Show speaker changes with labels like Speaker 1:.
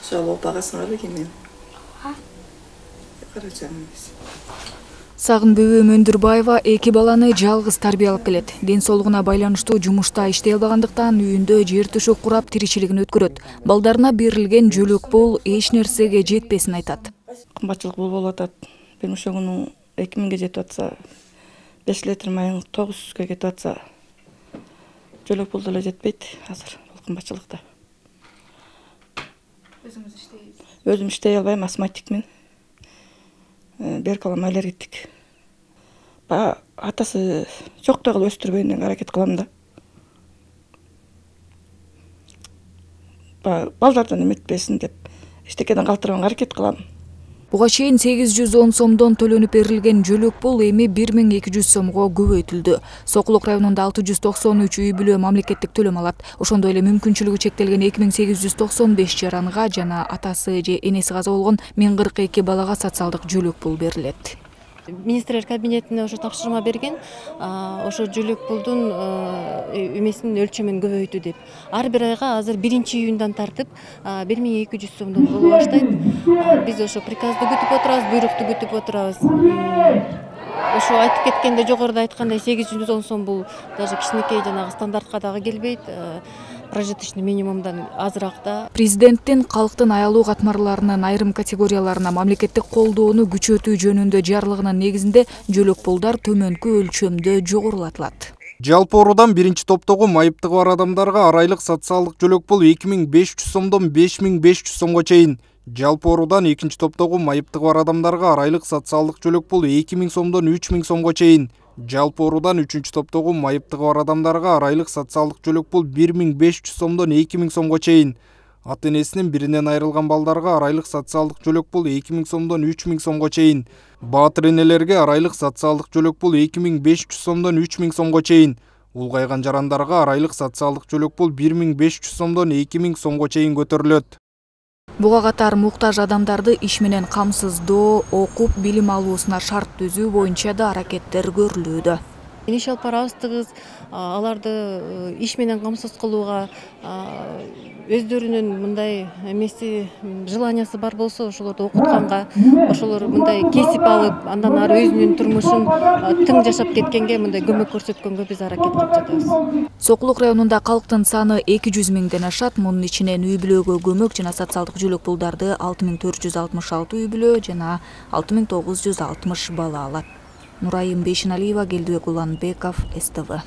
Speaker 1: Шалоо багасыңар бекемен. Карачан.
Speaker 2: Сагын Бөбөм Өндүрбаева эки баланы жалгыз тарбиялап келет. Ден соолугуна байланыштуу жумушта иштей албагандыктан үйүндө жер төшөк курап тиричилигин өткөрөт. Балдарына берилген жөлөк пул эч нерсеге жетпесин айтат.
Speaker 1: Кымбатчылык болуп атат. Бир ошо күнү 2000ге жетип атса, 5 литр майың 900ге кетип атса, жөлөк пул деле жетпейт азыр бул кымбатчылыкта. Өзүм иштей албайм, астматикмин. Берип калган аллергик. Атасы чоктой кылып өстүрбөйүнө аракет кылам да. Балдардан эметпесин деп эчтекеден калтырганга аракет кылам.
Speaker 2: Буга чейин 810 сомдон төлөнүп берилген жөлөк пул эми 1200 сомго көбөйтүлдү. Сокулук районунда 693 үй бүлө мамлекеттик төлөм алат. Ошондой эле мүмкүнчүлүгү чектелген 2895 жаранга жана атасы же энеси каза болгон 1042 балага социалдык жөлөк пул берилет.
Speaker 3: Министрлер кабинетине ошо тапшырма берген, ошо жөлөк пулдун эмесин өлчөмүн көбөйтүү деп. Ар бир айга азыр 1-июндан тартып 1200 сомдон боло баштайт. Биз ошо приказды күтүп отурабыз, буйрукту күтүп отурабыз. Ошо айтып кеткенде, жогоруда айткандай 810 сом бул даже кичинекей жанагы стандартка дагы келбейт. Прожиточный минимумдан азыраак да.
Speaker 2: Президенттин калктын аялуу катмарларынын айрым категорияларына мамлекеттик колдоону күчөтүү жөнүндө жарлыгынын негизинде жөлөк пулдар төмөнкү өлчөмдө жогорулатылат.
Speaker 4: Жалпы оруудан биринчи топтогу майыптыгы бар адамдарга арайлык социалдык жөлөк пул 2500 сомдон 5500 сомго чейин. Жалпы оруудан экинчи топтогу майыптыгы бар адамдарга арайлык социалдык жөлөк пул 2000 сомдон 3000 сомго чейин. Жалпы оруудан үчүнчү топтогу майыптыгы бар адамдарга арайлык социалдык жөлөк пул 1500 сомдон 2000 сомго чейин. Ата энесинин биринен айрылган балдарга арайлык социалдык жөлөк пул 2000 сомдон 3000 сомго чейин. Баатыр энелерге арайлык социалдык жөлөк пул 2500 сомдон 3000 сомго чейин. Улгайган жарандарга арайлык социалдык жөлөк пул 1500 сомдон 2000 сомго чейин көтөрүлөт.
Speaker 2: Буга катар муктаж адамдарды иш менен камсыздоо, окуп билим алуусуна шарт түзүү боюнча да аракеттер көрүлүүдө.
Speaker 3: Иш алып барабыз, аларды иш менен камсыз кылууга өздөрүнүн мындай эмеси, желаниясы бар болсо, ошолорду окутканга, ошолор мындай кесип алып, андан ары өзүнүн турмушун тың жашап кеткенге мындай көмөк көрсөткөнгө биз аракет кылып жатабыз.
Speaker 2: Сокулук районунда калктын саны 200 миңден ашат. Мунун ичинен үй бүлөгө көмөк жана социалдык жөлөк пулдарды 6466 үй бүлө жана 6960 бала алат. Нурайым Бейшеналиева, Келдибек Уланбеков, СТВ.